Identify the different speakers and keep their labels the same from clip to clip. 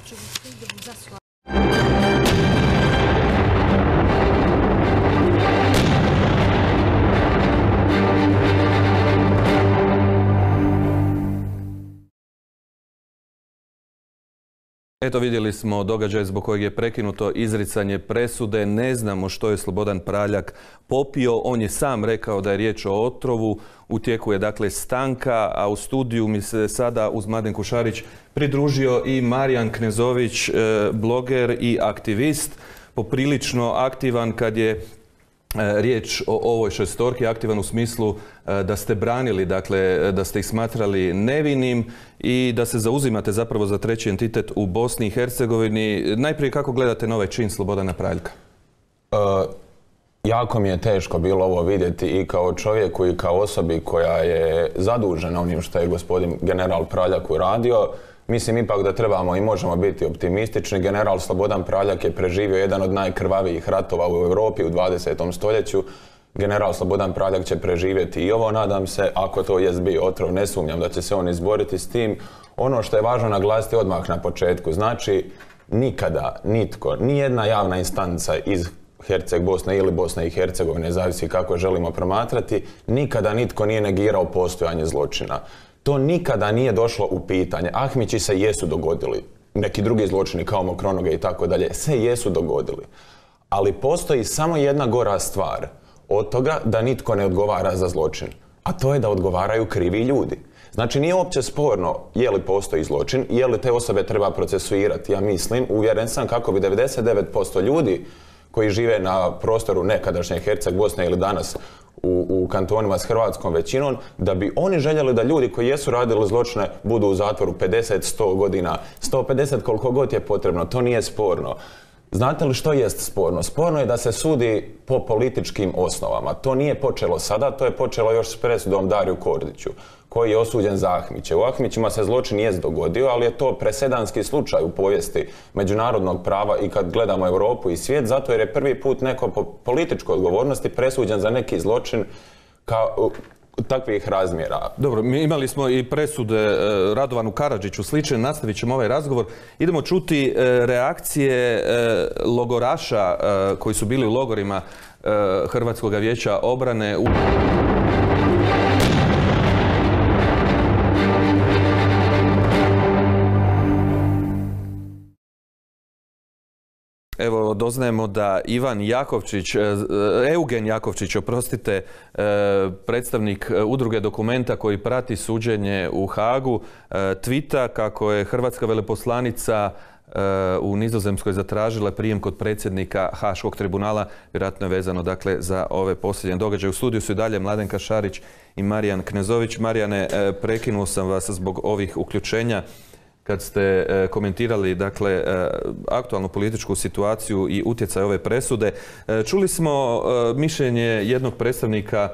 Speaker 1: očevidstvu za sva.
Speaker 2: Eto, vidjeli smo događaj zbog kojeg je prekinuto izricanje presude. Ne znamo što je Slobodan Praljak popio. On je sam rekao da je riječ o otrovu. U tijeku je dakle stanka, a u studiju mi se sada uz Mladenku Šarić pridružio i Marijan Knezović, bloger i aktivist. Poprilično aktivan kad je riječ o ovoj šestorki, aktivan u smislu da ste branili, dakle da ste ih smatrali nevinim i da se zauzimate zapravo za treći entitet u Bosni i Hercegovini. Najprije, kako gledate na ovaj čin Slobodana Praljka?
Speaker 3: Jako mi je teško bilo ovo vidjeti i kao čovjeku i kao osobi koja je zadužena onim što je gospodin general Praljak uradio. Mislim ipak da trebamo i možemo biti optimistični. General Slobodan Praljak je preživio jedan od najkrvavijih ratova u Europi u 20. stoljeću. General Slobodan Praljak će preživjeti i ovo, nadam se, ako to jest bio otrov, ne sumnjam da će se on izboriti s tim. Ono što je važno naglasiti odmah na početku, znači nikada nitko, nijedna javna instanca iz Bosne ili Bosne i Hercegovine, zavisi kako želimo promatrati, nikada nitko nije negirao postojanje zločina. To nikada nije došlo u pitanje. Ahmići se jesu dogodili, neki drugi zločini kao Mokronoge i tako dalje, se jesu dogodili. Ali postoji samo jedna gora stvar od toga da nitko ne odgovara za zločin, a to je da odgovaraju krivi ljudi. Znači nije uopće sporno je li postoji zločin, je li te osobe treba procesuirati. Ja mislim, uvjeren sam kako bi 99% ljudi koji žive na prostoru nekadašnje Herceg Bosne ili danas u kantonima s hrvatskom većinom, da bi oni željeli da ljudi koji jesu radili zločine budu u zatvoru 50, 100 godina, 150 koliko god je potrebno, to nije sporno. Znate li što jest sporno? Sporno je da se sudi po političkim osnovama. To nije počelo sada, to je počelo još s presudom Dariju Kordiću, koji je osuđen za Ahmiće. U Ahmićima se zločin jest dogodio, ali je to presedanski slučaj u povijesti međunarodnog prava i kad gledamo Europu i svijet, zato jer je prvi put neko po političkoj odgovornosti presuđen za neki zločin kao takvih razmjera.
Speaker 2: Dobro, mi imali smo i presude Radovanu Karadžiću slične, nastavit ćemo ovaj razgovor. Idemo čuti reakcije logoraša koji su bili u logorima Hrvatskog vijeća obrane. Evo, doznajemo da Eugen Jakovčić, oprostite, predstavnik udruge Dokumenta koji prati suđenje u Hagu, tvita kako je hrvatska veleposlanica u Nizozemskoj zatražila prijem kod predsjednika Haškog tribunala, vjerojatno je vezano dakle za ove posljednje događaje. U studiju su i dalje Mladenka Šarić i Marijan Knezović. Marijane, prekinuo sam vas zbog ovih uključenja kad ste komentirali dakle aktualnu političku situaciju i utjecaj ove presude. Čuli smo mišljenje jednog predstavnika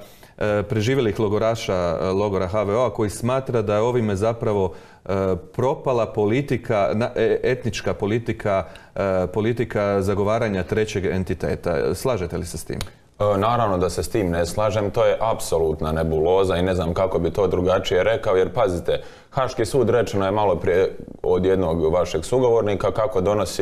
Speaker 2: preživjelih logoraša logora HVO-a koji smatra da je ovime zapravo propala politika, etnička politika zagovaranja trećeg entiteta. Slažete li se s tim?
Speaker 3: Naravno da se s tim ne slažem, to je apsolutna nebuloza i ne znam kako bi to drugačije rekao, jer pazite, Haški sud, rečeno je malo prije od jednog vašeg sugovornika,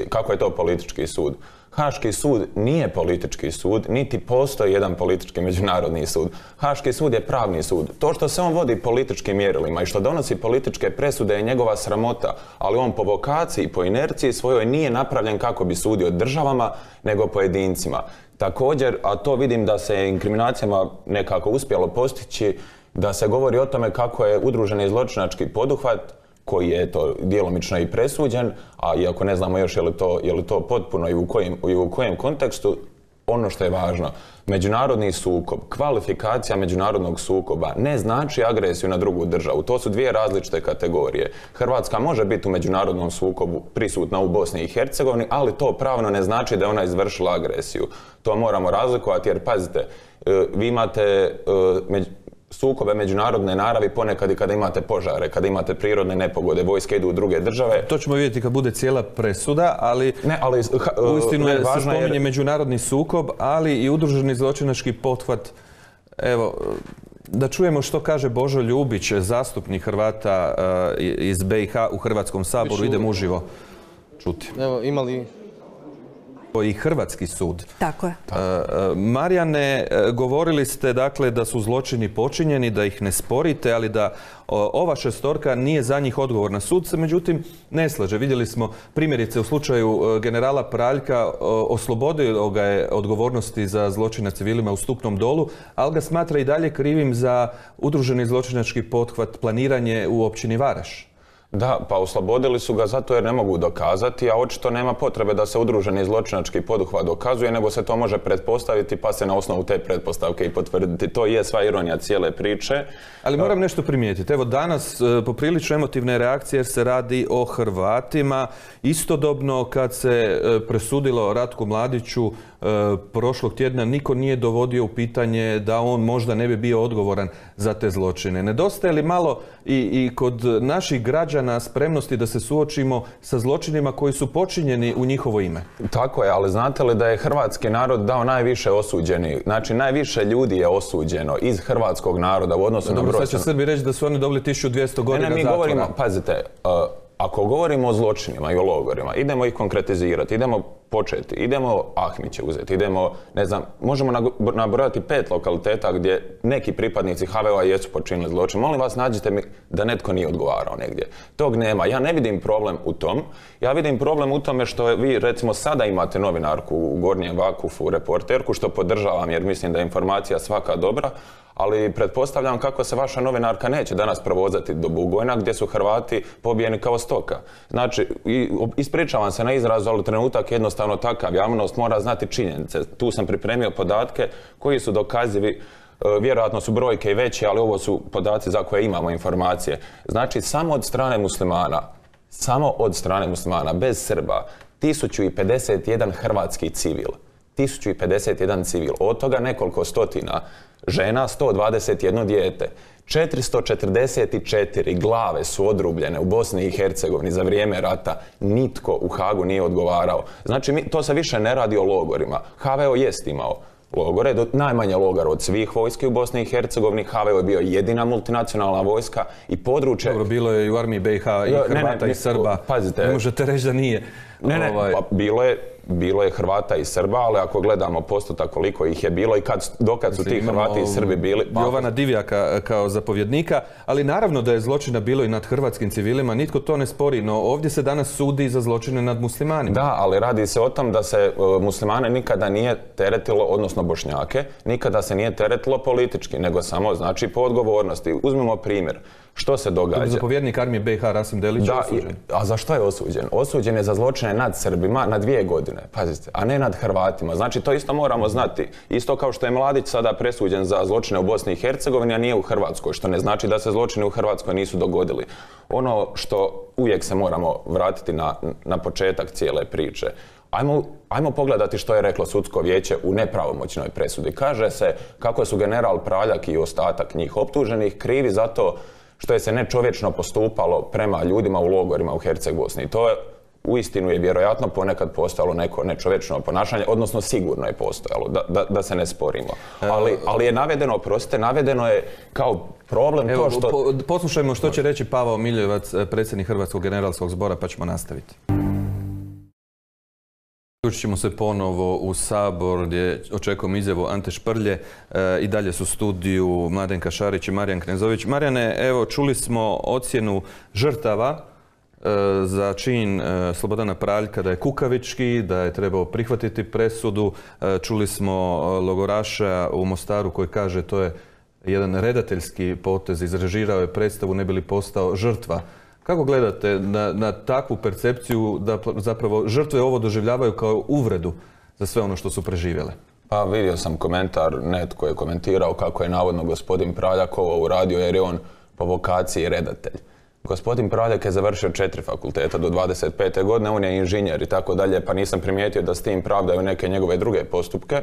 Speaker 3: kako je to politički sud. Haški sud nije politički sud, niti postoji jedan politički međunarodni sud. Haški sud je pravni sud. To što se on vodi političkim mjerilima i što donosi političke presude je njegova sramota, ali on po vokaciji, po inerciji svojoj nije napravljen kako bi sudio državama, nego pojedincima. Također, a to vidim da se inkriminacijama nekako uspjelo postići, da se govori o tome kako je udruženi zločinački poduhvat, koji je to djelomično i presuđen, a iako ne znamo još je li to potpuno i u kojem kontekstu, ono što je važno, međunarodni sukob, kvalifikacija međunarodnog sukoba ne znači agresiju na drugu državu. To su dvije različite kategorije. Hrvatska može biti u međunarodnom sukobu prisutna u Bosni i Hercegovini, ali to pravno ne znači da je ona izvršila agresiju. To moramo razlikovati jer, pazite, vi imate sukobe međunarodne naravi ponekad i kada imate požare, kada imate prirodne nepogode, vojske idu u druge države.
Speaker 2: To ćemo vidjeti kad bude cijela presuda, ali uistinu se spominje međunarodni sukob, ali i udruženi zločinački pothvat. Evo, da čujemo što kaže Božo Ljubić, zastupnik Hrvata iz BiH u Hrvatskom saboru. Idemo uživo. čuti.
Speaker 1: Evo, imali
Speaker 2: I hrvatski sud.
Speaker 4: Tako je.
Speaker 2: Marijane, govorili ste dakle da su zločini počinjeni, da ih ne sporite, ali da ova šestorka nije za njih odgovorna. Sud se međutim ne slaže. Vidjeli smo primjerice u slučaju generala Praljka, oslobodio ga je odgovornosti za zločin nad civilima u Stupnom Dolu, ali ga smatra i dalje krivim za udruženi zločinački pothvat, planiranje u općini Varaš.
Speaker 3: Da, pa oslobodili su ga zato jer ne mogu dokazati, a očito nema potrebe da se udruženi zločinački poduhvat dokazuje, nego se to može pretpostaviti pa se na osnovu te pretpostavke i potvrditi. To je sva ironija cijele priče.
Speaker 2: Ali moram nešto primijetiti. Evo danas poprilično emotivne reakcije jer se radi o Hrvatima. Istodobno kad se presudilo Ratku Mladiću prošlog tjedna, niko nije dovodio u pitanje da on možda ne bi bio odgovoran za te zločine. Nedostaje li malo i kod naših građana spremnosti da se suočimo sa zločinima koji su počinjeni u njihovo ime?
Speaker 3: Tako je, ali znate li da je hrvatski narod dao najviše osuđeni? Znači, najviše ljudi je osuđeno iz hrvatskog naroda u odnosu na broj.
Speaker 2: Sad će Srbi reći da su oni dobili 1200 godina zatvora.
Speaker 3: Ne, mi govorimo, pazite, ako govorimo o zločinima i o logorima, idemo ih konkretizirati, idemo početi, idemo Ahmiće uzeti, idemo, ne znam, možemo nabrojati 5 lokaliteta gdje neki pripadnici HVO-a jesu počinili zločin. Molim vas, nađite mi da netko nije odgovarao negdje. Tog nema. Ja ne vidim problem u tom. Ja vidim problem u tome što vi, recimo, sada imate novinarku u Gornjem Vakufu, reporterku, što podržavam jer mislim da je informacija svaka dobra, ali pretpostavljam kako se vaša novinarka neće danas provozati do Bugojna gdje su Hrvati pobijeni kao stoka. Znači, ispričavam se na izrazu, ali trenutak jednostavno takav. Javnost mora znati činjenice. Tu sam pripremio podatke koji su dokazivi. Vjerojatno su brojke i veće, ali ovo su podaci za koje imamo informacije. Znači, samo od strane muslimana, bez Srba, 1051 hrvatski civil. 1051 civil. Od toga nekoliko stotina žena, 121 dijete. 444 glave su odrubljene u Bosni i Hercegovini za vrijeme rata. Nitko u Hagu nije odgovarao. Znači, to se više ne radi o logorima. HVO jest imao logore, najmanje logora od svih vojski u Bosni i Hercegovini. HVO je bio jedina multinacionalna vojska i područje...
Speaker 2: Dobro, bilo je i u armiji BiH i Hrvata i Srba.
Speaker 3: Pazite.
Speaker 2: Ne možete reći da nije.
Speaker 3: Pa bilo je Hrvata i Srba, ali ako gledamo postotak koliko ih je bilo i dokad su ti Hrvati i Srbi bili...
Speaker 2: Jovana Divjaka kao zapovjednika, ali naravno da je zločina bilo i nad hrvatskim civilima, nitko to ne spori, no ovdje se danas sudi za zločine nad muslimanima.
Speaker 3: Da, ali radi se o tom da se muslimane nikada nije teretilo, odnosno Bošnjake, nikada se nije teretilo politički, nego samo znači po odgovornosti. Uzmimo primjer. Što se događa?
Speaker 2: Zapovjednik armije BiH Rasim Delić je osuđen.
Speaker 3: A za što je osuđen? Osuđen je za zločine nad Srbima na 2 godine, pazite, a ne nad Hrvatima. Znači, to isto moramo znati. Isto kao što je Mladić sada presuđen za zločine u Bosni i Hercegovini, a nije u Hrvatskoj, što ne znači da se zločini u Hrvatskoj nisu dogodili. Ono što uvijek se moramo vratiti na početak cijele priče. Ajmo pogledati što je reklo sudsko vijeće u nepravomoćnoj presudi. Kaže se kako su general Praljak i ostatak njih optuženih krivi zato što je se nečovječno postupalo prema ljudima u logorima u Herceg Bosni. To je uistinu je vjerojatno ponekad postojalo neko nečovječno ponašanje, odnosno sigurno je postojalo, da se ne sporimo. Ali je navedeno, oprostite, navedeno je kao problem to što...
Speaker 2: Poslušajmo što će reći Pavao Miljevac, predsjednik Hrvatskog generalskog zbora, pa ćemo nastaviti. Uključit ćemo se ponovo u Sabor gdje očekujemo izjavu Ante Šprlje. I dalje su u studiju Mladenka Šarić i Marijan Knezović. Marijane, evo čuli smo ocjenu žrtava za čin Slobodana Praljka da je kukavički, da je trebao prihvatiti presudu. Čuli smo logoraša u Mostaru koji kaže to je jedan redateljski potez, izrežirao je predstavu ne bi li postao žrtva. Kako gledate na takvu percepciju da zapravo žrtve ovo doživljavaju kao uvredu za sve ono što su preživjele?
Speaker 3: Pa vidio sam komentar, netko je komentirao kako je navodno gospodin Praljak ovo uradio jer je on po vokaciji redatelj. Gospodin Praljak je završio 4 fakulteta do 25. godine, on je inženjer i tako dalje, pa nisam primijetio da s tim pravdaju neke njegove druge postupke.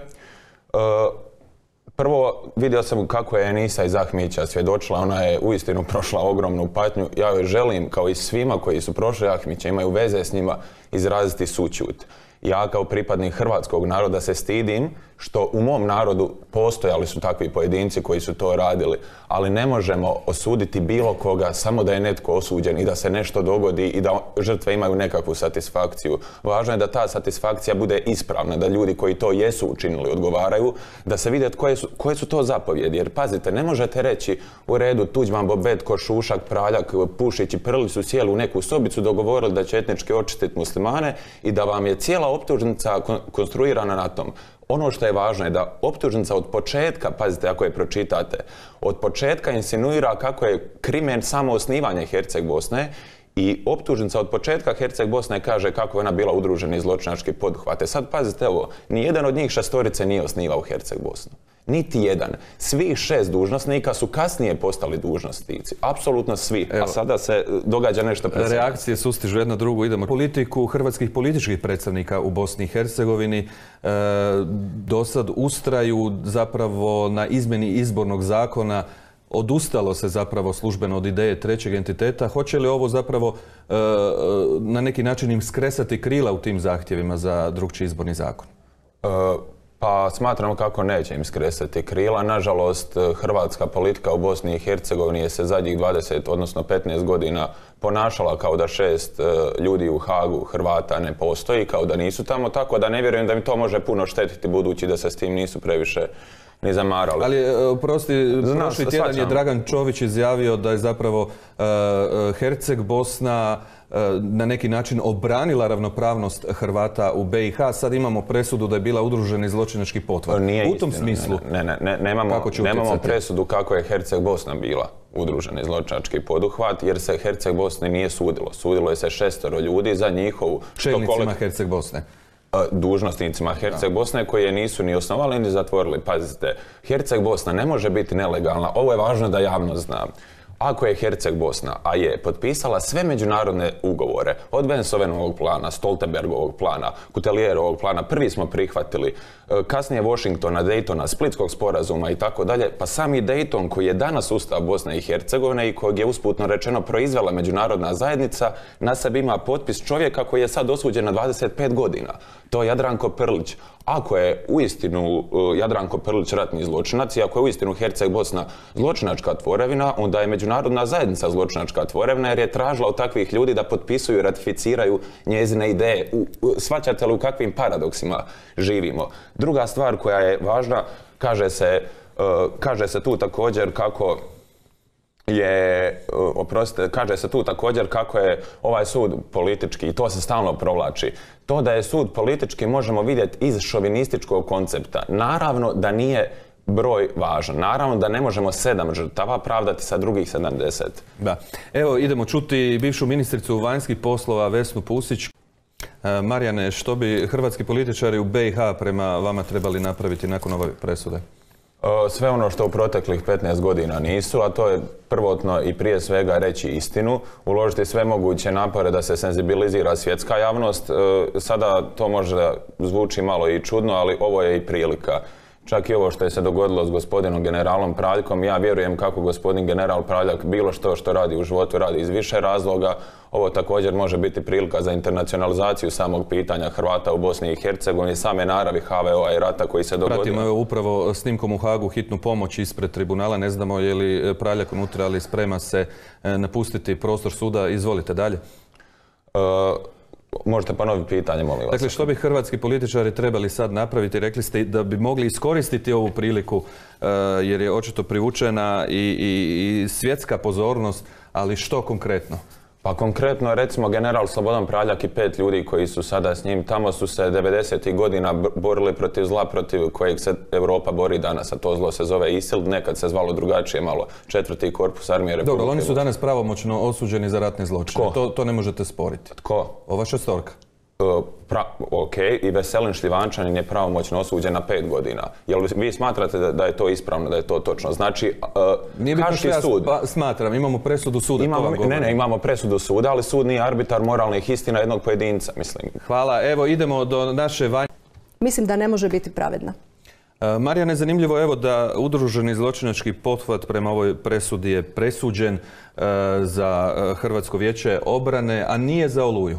Speaker 3: Prvo, vidio sam kako je Enisa iz Ahmića svjedočila, ona je uistinu prošla ogromnu patnju. Ja joj želim, kao i svima koji su prošli Ahmića, imaju veze s njima, izraziti sućut. Ja kao pripadnik hrvatskog naroda se stidim što u mom narodu postojali su takvi pojedinci koji su to radili, ali ne možemo osuditi bilo koga samo da je netko osuđen i da se nešto dogodi i da žrtve imaju nekakvu satisfakciju. Važno je da ta satisfakcija bude ispravna, da ljudi koji to jesu učinili odgovaraju, da se vide koje su to zapovjedi. Jer pazite, ne možete reći u redu Tuđman, Bobetko, Šušak, Praljak, Pušić i Prlić su sjeli u neku sobicu, dogovorili da će etnički očistiti muslimane i da vam je cijela optužnica konstruirana na tom. Ono što je važno je da optužnica od početka, pazite ako je pročitate, od početka insinuira kako je krimen samo osnivanje Herceg Bosne i optužnica od početka Herceg Bosne kaže kako je ona bila udruženi zločinački poduhvat. Sad pazite ovo, nijedan od njih šestorice nije osnivao Herceg Bosnu. Niti jedan. Svih 6 dužnosnika su kasnije postali dužnosnici. Apsolutno svi. A sada se događa nešto predsjedno.
Speaker 2: Reakcije sustižu jedna drugu. Idemo politiku hrvatskih političkih predstavnika u Bosni i Hercegovini. Do sad ustraju zapravo na izmjeni izbornog zakona. Odustalo se zapravo službeno od ideje trećeg entiteta. Hoće li ovo zapravo na neki način im skresati krila u tim zahtjevima za drukčiji izborni zakon?
Speaker 3: Pa smatramo kako neće im skresati krila. Nažalost, hrvatska politika u Bosni i Hercegovini je se zadnjih 20, odnosno 15 godina ponašala kao da 6 ljudi u Hagu Hrvata ne postoji, kao da nisu tamo, tako da ne vjerujem da im to može puno štetiti budući da se s tim nisu previše ni zamarali.
Speaker 2: Ali, prošli tjedan je Dragan Čović izjavio da je zapravo Herceg Bosna na neki način obranila ravnopravnost Hrvata u BiH. Sad imamo presudu da je bila udruženi zločinački pothvat. U tom smislu,
Speaker 3: nemamo presudu kako je Herceg Bosna bila udruženi zločinački poduhvat, jer se Herceg Bosni nije sudilo. Sudilo je se 6 ljudi za njihovu...
Speaker 2: Čelnicima Herceg Bosne.
Speaker 3: Dužnosnicima Herceg Bosne koji je nisu ni osnovali ni zatvorili. Pazite, Herceg Bosna ne može biti nelegalna. Ovo je važno da javnost zna. Ako je Herceg Bosna, a je potpisala sve međunarodne ugovore, od Bensovenovog plana, Stoltenbergovog plana, Kutelijerovog plana, prvi smo prihvatili, kasnije Washingtona, Daytona, Splitskog sporazuma i tako dalje, pa sami Dayton koji je danas ustav Bosne i Hercegovine i kojeg je usputno rečeno proizvela međunarodna zajednica, na sebi ima potpis čovjeka koji je sad osuđen na 25 godina. To je Jadranko Prlić. Ako je uistinu Jadranko Prlić ratni zločinac i ako je uistinu Herceg Bosna zločinačka tvorevina, onda je međunarodna zajednica zločinačka tvorevina jer je tražila od takvih ljudi da potpisuju i ratificiraju njezine ideje. Shvaćate li u kakvim paradoksima živimo? Druga stvar koja je važna, kaže se tu također kako je ovaj sud politički i to se stalno provlači. To da je sud politički možemo vidjeti iz šovinističkog koncepta. Naravno da nije broj važan. Naravno da ne možemo 7 žrtava pravdati sa drugih 70.
Speaker 2: Da. Evo idemo čuti bivšu ministricu vanjskih poslova Vesnu Pusić. Marijane, što bi hrvatski političari u BiH prema vama trebali napraviti nakon ove presude?
Speaker 3: Sve ono što u proteklih 15 godina nisu, a to je prvotno i prije svega reći istinu, uložiti sve moguće napore da se senzibilizira svjetska javnost. Sada to možda zvuči malo i čudno, ali ovo je i prilika. Čak i ovo što je se dogodilo s gospodinom generalom Praljkom, ja vjerujem kako gospodin general Praljak bilo što radi u životu radi iz više razloga. Ovo također može biti prilika za internacionalizaciju samog pitanja Hrvata u Bosni i Hercegovini, same naravi HVO-a i rata koji se dogodio.
Speaker 2: Pratimo evo upravo snimkom u Hagu hitnu pomoć ispred tribunala. Ne znamo je li Praljak unutra, ali sprema se napustiti prostor suda. Izvolite dalje.
Speaker 3: Možete ponoviti pitanje, molim vas.
Speaker 2: Dakle, što bi hrvatski političari trebali sad napraviti? Rekli ste da bi mogli iskoristiti ovu priliku jer je očito privučena i svjetska pozornost, ali što konkretno?
Speaker 3: Pa konkretno, recimo, general Slobodan Praljak i 5 ljudi koji su sada s njim, tamo su se 90. godina borili protiv zla protiv kojeg se Europa bori danas, a to zlo se zove ISIL, nekad se zvalo drugačije malo, 4. korpus armije Republike.
Speaker 2: Dobro, oni su danas pravomoćno osuđeni za ratne zločine. To ne možete sporiti.
Speaker 3: Tko?
Speaker 2: Ova šestorka.
Speaker 3: Ok, i Veselin Šljivančanin je pravomoćno osuđen na 5 godina. Jel vi smatrate da je to ispravno, da je to točno? Znači, Haški sud...
Speaker 2: Smatram, imamo presudu suda.
Speaker 3: Imamo presudu suda, ali sud nije arbitar moralnih istina jednog pojedinca, mislim.
Speaker 2: Hvala, evo idemo do naše Vanje.
Speaker 1: Mislim da ne može biti pravedna.
Speaker 2: Marijane, zanimljivo evo da udruženi zločinački pothvat prema ovoj presudi je presuđen za Hrvatsko vijeće obrane, a nije za Oluju.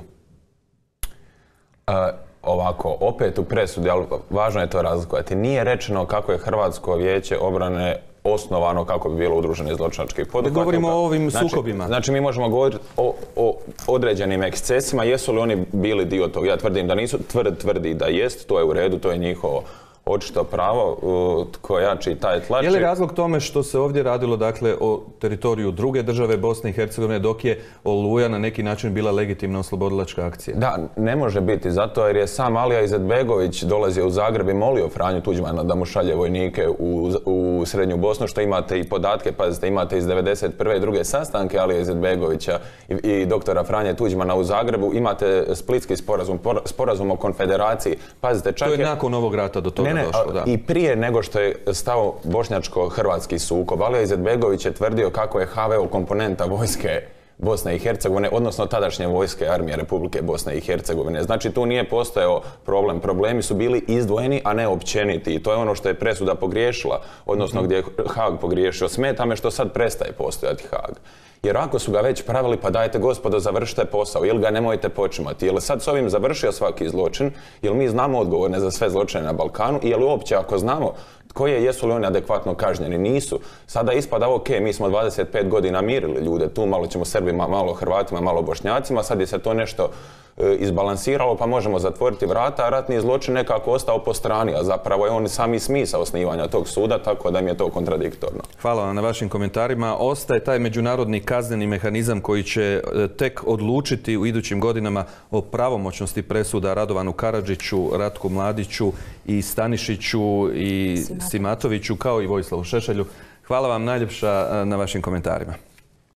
Speaker 3: ovako, opet u presudi, ali važno je to razlikovati. Nije rečeno kako je Hrvatsko vijeće obrane osnovano kako bi bilo udruženi zločinački poduhvat.
Speaker 2: Govorimo o ovim sukobima.
Speaker 3: Znači mi možemo govoriti o određenim ekscesima. Jesu li oni bili dio tog? Ja tvrdim da nisu, tvrdi da jest, to je u redu, to je njihovo očito pravo, tko jači taj tlači.
Speaker 2: Je li razlog tome što se ovdje radilo dakle o teritoriju druge države Bosne i Hercegovine, dok je Oluja na neki način bila legitimna oslobodilačka akcija?
Speaker 3: Da, ne može biti, zato jer je sam Alija Izetbegović dolazio u Zagreb i molio Franju Tuđmana da mu šalje vojnike u Srednju Bosnu, što imate i podatke, pazite, imate iz 1991. i druge sastanke Alija Izetbegovića i doktora Franje Tuđmana u Zagrebu, imate splitski sporazum o konfederaciji, pazite, čak
Speaker 2: to je nakon ovog rata do toga došlo, da.
Speaker 3: I prije nego što je stao bošnjačko-hrvatski sukob. Alija Izetbegović je tvrdio kako je HVO komponenta vojske Bosne i Hercegovine, odnosno tadašnje vojske armije Republike Bosne i Hercegovine. Znači tu nije postojao problem. Problemi su bili izdvojeni, a ne općeniti. I to je ono što je presuda pogriješila, odnosno gdje je Haag pogriješio. Smeta me što sad prestaje postojati Haag. Jer ako su ga već pravili, pa dajte gospodo, završite posao, ili ga nemojte počimati. Je li sad s ovim završio svaki zločin, jer mi znamo odgovorne za sve zločine na Balkanu, i je li uopće ako znamo jesu li oni adekvatno kažnjeni? Nisu. Sada ispada, ok, mi smo 25 godina mirili ljude, tu malo ćemo Srbima, malo Hrvatima, malo Bošnjacima, sad je se to nešto izbalansiralo, pa možemo zatvoriti vrata, a ratni zločin nekako ostao po strani, a zapravo je on sami smisao osnivanja tog suda, tako da mi je to kontradiktorno.
Speaker 2: Hvala vam na vašim komentarima. Ostaje taj međunarodni kazneni mehanizam koji će tek odlučiti u idućim godinama o pravomoćnosti presuda Radovanu Karadžiću, Ratku Mladiću i Stanišiću i Simatoviću, kao i Vojislavu Šešelju. Hvala vam najljepša na vašim komentarima.